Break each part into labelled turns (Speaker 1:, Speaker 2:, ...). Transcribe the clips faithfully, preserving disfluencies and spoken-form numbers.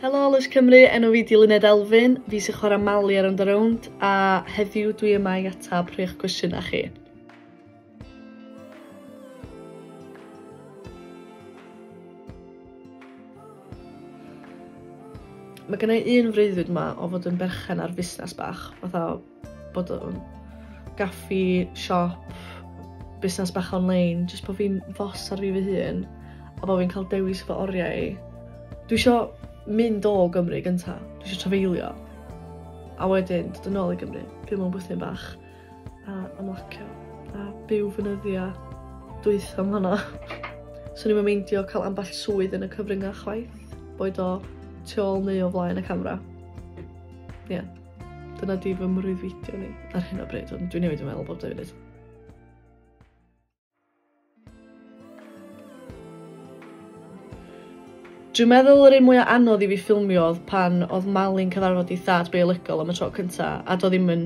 Speaker 1: Helo Lush Cymru, enw fi 'di Luned Elfyn, fi sy'n chwarae Mali ar Rownd a Rownd, a heddiw dwi yma i atab rhai o'ch cwestiynau chi. Mae gen i un freuddwyd yma o fod yn berchen ar fusnes bach, fatha bod o'n gaffi, siop, busnes bach online, jyst bod fi'n fos ar fi fy hun, a bod fi'n cael dewis fy oriau i. Dwi isio mynd o Gymru gynta, dwi isio trafeilio, a wedyn dod yn ôl i Gymru, byw mewn bwthyn bach, a ymlacio, a byw fy nyddia dwytha am hwnna. Swn i'm yn meindio cael ambell swydd yn y cyfryngau chwaith, boed o tu ôl neu o flaen y camera. Ie, yeah, dyna di fy mreuddwydion i ar hyn o bryd, ond dwi'n newid yn meddwl bob dau funud. Dwi'n meddwl yr un mwyaf anodd i fi ffilmio oedd pan oedd Mali'n cyfarfod ei thad biolegol am y tro cynta, a doedd ddim yn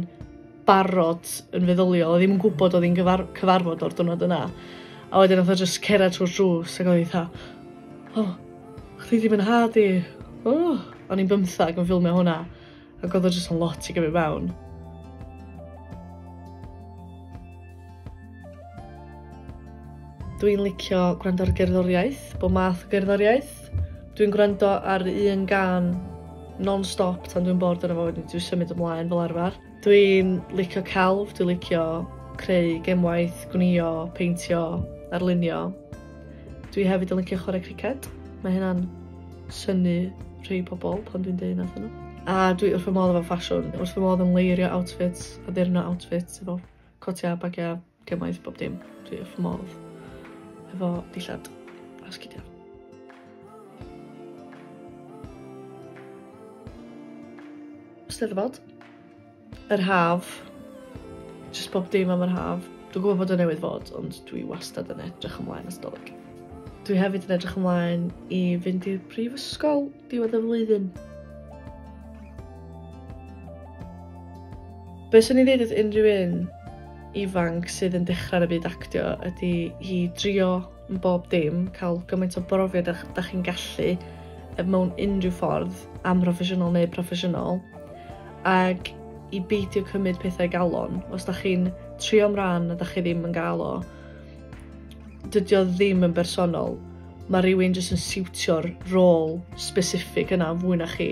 Speaker 1: barod yn feddyliol, oedd ddim yn gwybod oedd hi'n cyfar cyfarfod o'r diwrnod yna. A wedyn oedd o jyst cerdded trwy'r drws ac oedd hi fatha, oh, chdi ddim yn nhad i, oh. O'n i'n bymthag yn ffilmio hwnna, ac oedd o jyst yn lot i gymryd mewn. Dwi'n licio gwrando ar gerddoriaeth, bob math o gerddoriaeth. Dwi'n gwrando ar un gân non-stop tan dwi'n bored arno fo, wedyn dwi'n symud ymlaen fel arfer. Dwi'n licio celf, dwi'n licio creu gemwaith, gwnïo, peintio, arlunio. Dwi hefyd yn licio chwarae criced. Mae hynna'n synnu rhai pobl pan dwi'n deud wrthyn nhw. A dwi wrth fy modd efo ffasiwn, wrth fy modd yn leirio outfits, addurno outfits efo cotiau, bagiau, gemwaith, bob dim. Dwi wrth fy modd efo dillad a sgidiau. Steddfod, yr haf, jyst bob dim am yr haf. Dwi'n gwybod bod o newydd fod, ond dwi wastad yn edrych ymlaen at Dolig. Dwi hefyd yn edrych ymlaen i fynd i'r brifysgol diwedd y flwyddyn. Be swn i'n dweud wrth unrhyw un ifanc sydd yn dechrau yn y byd actio ydy i drio yn bob dim, cael gymaint o brofiad â dach chi'n gallu mewn unrhyw ffordd, amhroffesiynol neu proffesiynol, ac i beidio cymryd pethau galon. Os dach chi'n trio am ran a dach chi ddim yn gael o, dydy o ddim yn bersonol. Mae rhywun jyst yn siwtio'r rôl specific yna fwy na chi.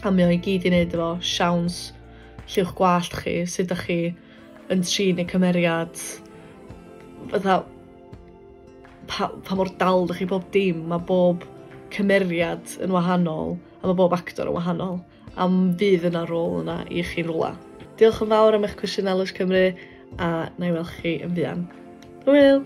Speaker 1: A mae o i gyd i wneud efo siawns, lliw'ch gwallt chi, sut dach chi yn trin y cymeriad, fatha pa, pa mor dal dach chi bob dim. Mae bob cymeriad yn wahanol, a mae bob actor yn wahanol, a fydd yna rôl yna i chi'n rwla. Diolch yn fawr am eich cwestiynau Lush Cymru, a na i weld chi yn fuan. Hwyl!